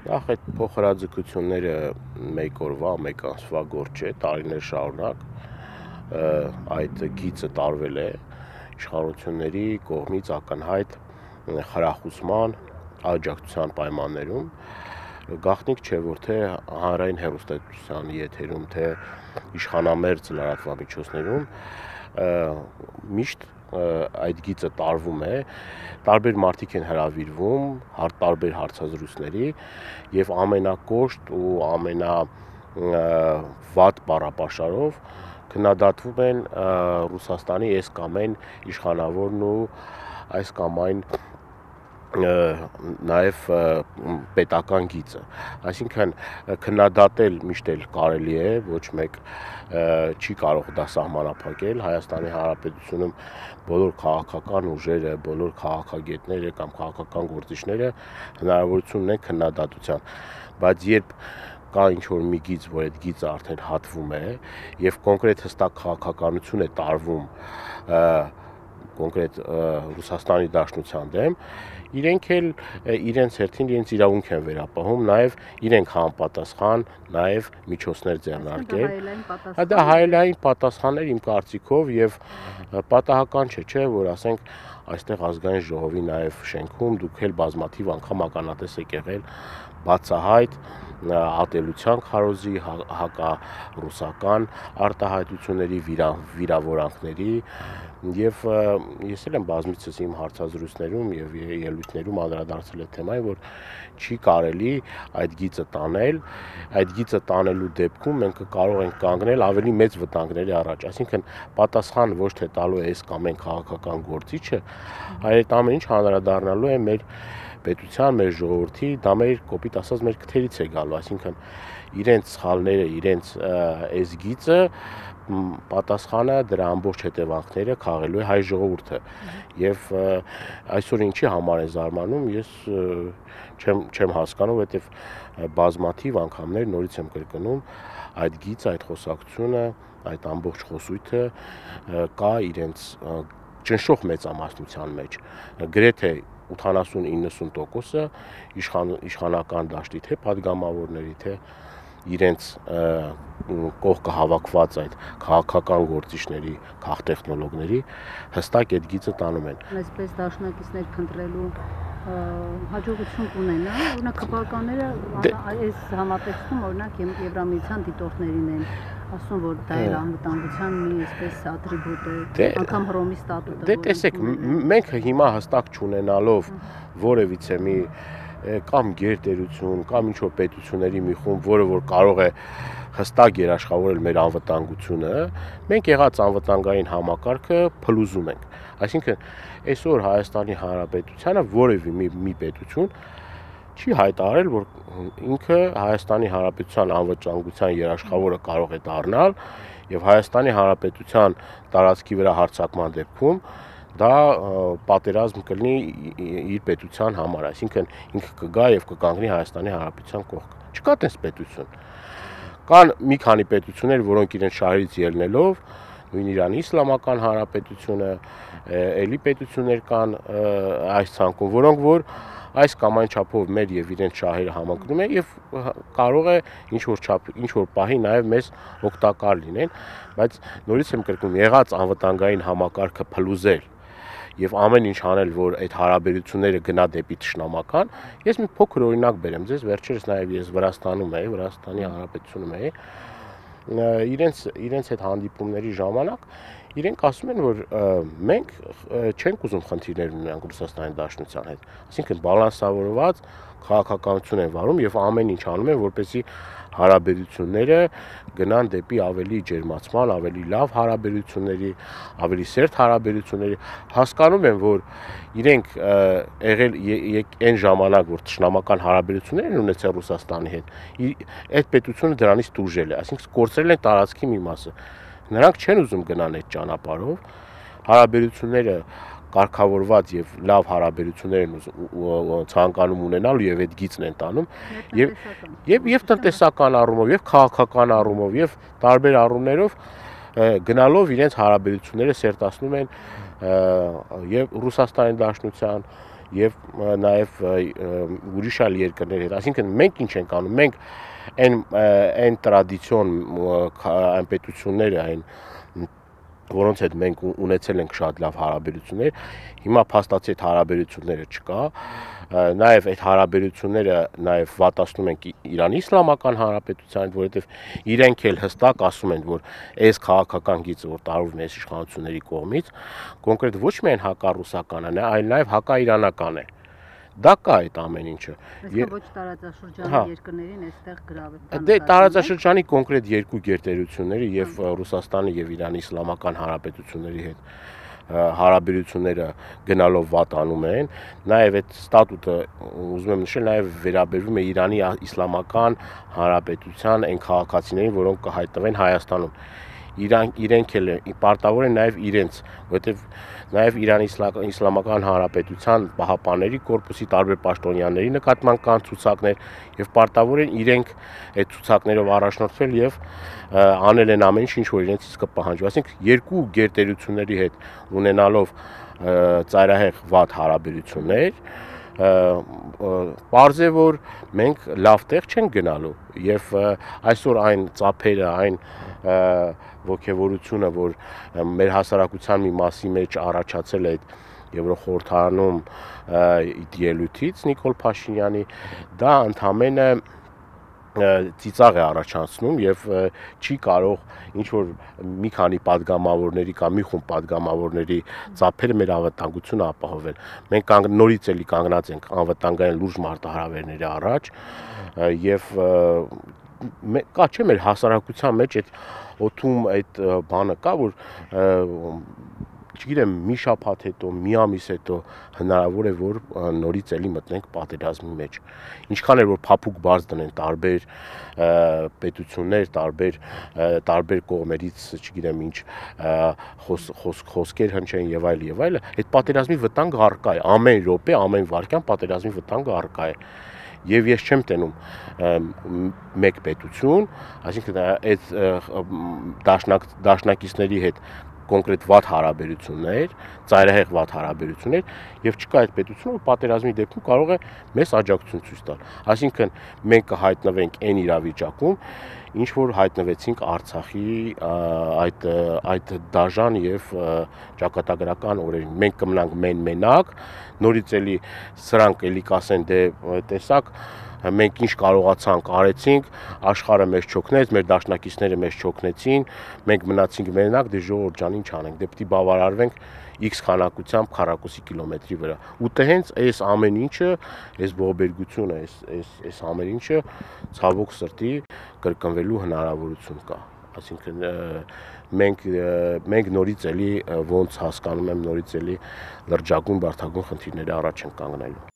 Նախ այդ փոխհրաձգությունները մեկ օրվա, մեկ ամսվա գործ չէ, տարիներ շարունակ այդ գիծը տարվել է իշխանությունների կողմից ակնհայտ խրախուսման, աջակցության պայմաններում, գաղտնիք չէ, որ թե հանրային հեռուստատեսության եթերում, թե իշխանամերձ լրատվամիջոցներում միշտ այդ գիծը տարվում է, տարբեր մարդիկ են հրավիրվում, տարբեր հարցազրույցների եւ ամենակոշտ ու ամենավատ բառապաշարով քննադատվում են Ռուսաստանի այս կամ այն իշխանավորն ու այս կամ այն նաև պետական գիծը, այսինքն քննադատել միշտ էլ կարելի է, ոչ մեկ չի կարող դա սահմանափակել, Հայաստանի Հանրապետությունում բոլոր քաղաքական ուժերը, բոլոր քաղաքագետները կամ քաղաքական գործիչները հնարավորություն ունեն քննադատության, բայց երբ կա ինչ-որ մի գիծ, որ այդ գիծը արդեն հատվում է եւ կոնկրետ հստակ քաղաքականություն է տարվում կոնկրետ Ռուսաստանի Դաշնության դեմ, իրենք էլ իրենց հերթին իրենց իրավունք են վերապահում, նաև իրենք համապատասխան, նաև միջոցներ ձեռնարկել։ Դա հայելային պատասխան էր իմ կարծիքով եւ պատահական չէ, որ ասենք այստեղ ազգային ժողովի նաև շենքում դուք էլ բազմաթիվ անգամ ականատես եք եղել բացահայտ ատելության քարոզի, հակառուսական արտահայտությունների, վիրավորանքների եւ ես էլ եմ բազմիցս իմ հարցազրույցներում եւ ելույթներում անդրադարձել այդ թեմային, որ չի կարելի այդ գիծը տանել, այդ գիծը տանելու դեպքում մենք կարող ենք կանգնել ավելի մեծ վտանգների առաջ, այսինքն պատասխան ոչ թե տալու է այս կամ այն քաղաքական գործիչը, այլ այդ ամեն ինչ անդրադառնալու է մեր պետության, մեր ժողովրդի, դա մեր կոպիտ ասած մեր քթերից է գալու, այսինքն իրենց սխալները, իրենց այս գիծը պատասխանը դրա ամբողջ հետևանքները քաղելու է հայ ժողովուրդը եւ այսօր ինչի համար է զարմանում ես չեմ հասկանում որովհետեւ բազմաթիվ անգամներ նորից եմ կրկնում այդ գիծը այդ խոսակցությունը այդ ամբողջ խոսույթը կա իրենց ճնշող մեծամասնության մեջ գրեթե 80-90% իշխանական դաշտի թե падգամավորների թե իրենց կողքը հավաքված այդ քաղաքական գործիչների, քաղտեխնոլոգների հստակ այդ գիծը տանում են։ Այսպես դաշնակիցներ քննելու հաջողություն կունենա, օրինակ քպականները այս համատեքստում օրինակ Եվրամիության դիտորդներին են ասում, որ դա իր անվտանգության մի այսպես ատրիբուտ է, անգամ Հռոմի ստատուտը։ Դե տեսեք, մենք հիմա հստակ չունենալով որևիցե մի կամ գերտերություն, կամ ինչ-որ պետությունների մի խումբ, որը որ կարող է հստակ երաշխավորել մեր անվտանգությունը, մենք եղած անվտանգային համակարգը փլուզում ենք։ Այսինքն, այսօր Հայաստանի Հանրապետությանը որևէ մի պետություն չի հայտարարել, որ ինքը Հայաստանի Հանրապետության անվտանգության երաշխավորը կարող է դառնալ եւ Հայաստանի Հանրապետության տարածքի վրա հարձակման դեպքում դա պատերազմ կլինի իր պետության համար, այսինքն ինքը կգա եւ կկանգնի Հայաստանի Հանրապետության կողքը։ Չկա տես պետություն։ Կան մի քանի պետություններ, որոնք իրենց շահերից ելնելով նույն Իրանի Իսլամական Հանրապետությունը, էլի պետություններ կան այս ցանկում, որոնք որ այս կամ այն չափով մեր եւ իրենց շահերը համընկնում են եւ կարող է ինչ որ պահի նաեւ մեզ օգտակար լինեն, բայց նորից եմ կրկնում, եղած անվտանգային համակարգը փլուզել եւ ամեն ինչ անել, որ այդ հարաբերությունները գնա դեպի ճշնամական, ես մի փոքր օրինակ բերեմ ձեզ, վերջերս նաեւ ես Վրաստանում էի, Վրաստանի Հանրապետությունում էի, իրենց այդ հանդիպումների ժամանակ իրենք ասում են, որ մենք չենք ուզում խնդիրներ ունենանք Ռուսաստանի Դաշնության հետ, այսինքն բալանսավորված քաղաքականություն են վարում եւ ամեն ինչ անում են, որպեսզի հարաբերությունները գնան դեպի ավելի ջերմացման, ավելի լավ հարաբերությունների, ավելի սերտ հարաբերությունների, հասկանում են, որ իրենք եղել այն ժամանակ, որ ճշնամական հարաբերություններ են ունեցել Ռուսաստանի հետ, այդ պետությունը դրանից տուժել է, այսինքն կորցրել են տարածքի մի մասը։ Նրանք չեն ուզում գնան այդ ճանապարհով, հարաբերությունները կարգավորված եւ լավ հարաբերություններ են ցանկանում ունենալ եւ այդ գիծն են տանում եւ տնտեսական առումով եւ քաղաքական առումով եւ տարբեր առումներով գնալով իրենց հարաբերությունները սերտացնում են եւ Ռուսաստանի Դաշնության եւ նաեւ ուրիշ այլ երկրների հետ, այսինքն մենք ինչ ենք անում, մենք այն տրադիցիոն այն պետությունները, այն որոնց հետ մենք ունեցել ենք շատ լավ հարաբերություններ, հիմա փաստացի այդ հարաբերությունները չկա, նաև այդ հարաբերությունները նաև վատացնում ենք Իրանի Իսլամական Հանրապետության, որովհետև իրենք էլ հստակ ասում են, որ այս քաղաքական գիծը, որ տարվում է այս իշխանությունների կողմից, կոնկրետ ոչ միայն հակառուսականն է, այլ նաև հակաիրանական է։ Դա կա այդ ամեն ինչը։ Այսինքն ոչ տարածաշրջանի երկրներին այստեղ գրավել։ Դե տարածաշրջանի կոնկրետ երկու գերտերությունների եւ Ռուսաստանի եւ Իրանի Իսլամական Հանրապետությունների հետ հարաբերությունները գնալով վատանում են, նաև այդ ստատուտը ուզում եմ նշել նաև վերաբերվում է Իրանի Իսլամական Հանրապետության այն քաղաքացիներին, որոնք կհայտնվեն Հայաստանում։ Իրենք էլ պարտավոր են նաև իրենց, որովհետև նաև Իրանի Իսլամական Հանրապետության պահապանների կորպուսի տարբեր պաշտոնյաների նկատմամբ կան ցուցակներ եւ պարտավոր են իրենք այդ ցուցակներով առաջնորդվել եւ անել են ամեն ինչ, որ իրենց իսկ կպահանջվի։ Այսինքն երկու գերտերությունների հետ ունենալով ծայրահեղ վատ հարաբերություններ, պարզ է, որ մենք լավ տեղ չենք գնալու եւ այսօր այն ծափերը, այն ոգևորությունը, որ մեր հասարակության մի մասի մեջ առաջացել է այդ Եվրոխորհրդարանում ելույթից Նիկոլ Փաշինյանի, դա ընդհանրապես ծիծաղ է առաջացնում եւ չի կարող ինչ որ մի քանի падգամավորների կամ մի խումբ падգամավորների ծափերը մեր անվտանգությունը ապահովել։ Մենք նորից էլի կանգնած ենք անվտանգային լուրջ մարտահրավերների առաջ եւ կա չէ մեր հասարակության մեջ այդ օդում այդ բանը կա, որ չգիտեմ, մի շաբաթ հետո, մի ամիս հետո հնարավոր է, որ նորից էլի մտնենք պատերազմի մեջ։ Ինչքան էլ որ փափուկ բաց դնեն տարբեր պետություններ, տարբեր կողմերից, չգիտեմ ինչ, խոսքեր հնչեն եւ այլ, այդ պատերազմի վտանգը առկա է, ամեն րոպե, ամեն վայրկյան պատերազմի վտանգը առկա է։ Եվ ես չեմ տենում մեկ պետություն, այսինքն այդ դաշնակիցների հետ կոնկրետ վատ հարաբերություններ, ծայրահեղ վատ հարաբերություններ եւ չկա այդ պետությունը, որ պատերազմի դեպքում կարող է մեզ աջակցություն ցույց տալ։ Այսինքն մենք կհայտնվենք այն իրավիճակում, ինչ որ հայտնվեցինք Արցախի այդ դաժան եւ ճակատագրական օրերին։ Մենք կմնանք մենակ, նորից էլի սրանք էլի կասեն, դե տեսակ մենք ինչ կարողացանք արեցինք, աշխարհը մեզ չօգնեց, մեր դաշնակիցները մեզ չօգնեցին, մենք մնացինք մենակ, դե ժողովուրդ ջան, ինչ անենք, դե պիտի բավարարվենք X քանակությամբ քառակուսի կիլոմետրի վրա։ Ու դե հենց այս ամեն ինչը, այս ողբերգությունը, այս ամեն ինչը ցավոք սրտի կրկնվելու հնարավորություն կա։ Այսինքն մենք նորից էլի ոնց հասկանում եմ, նորից էլի լրջագույն բարդագույն խնդիրների առաջ ենք կանգնելու։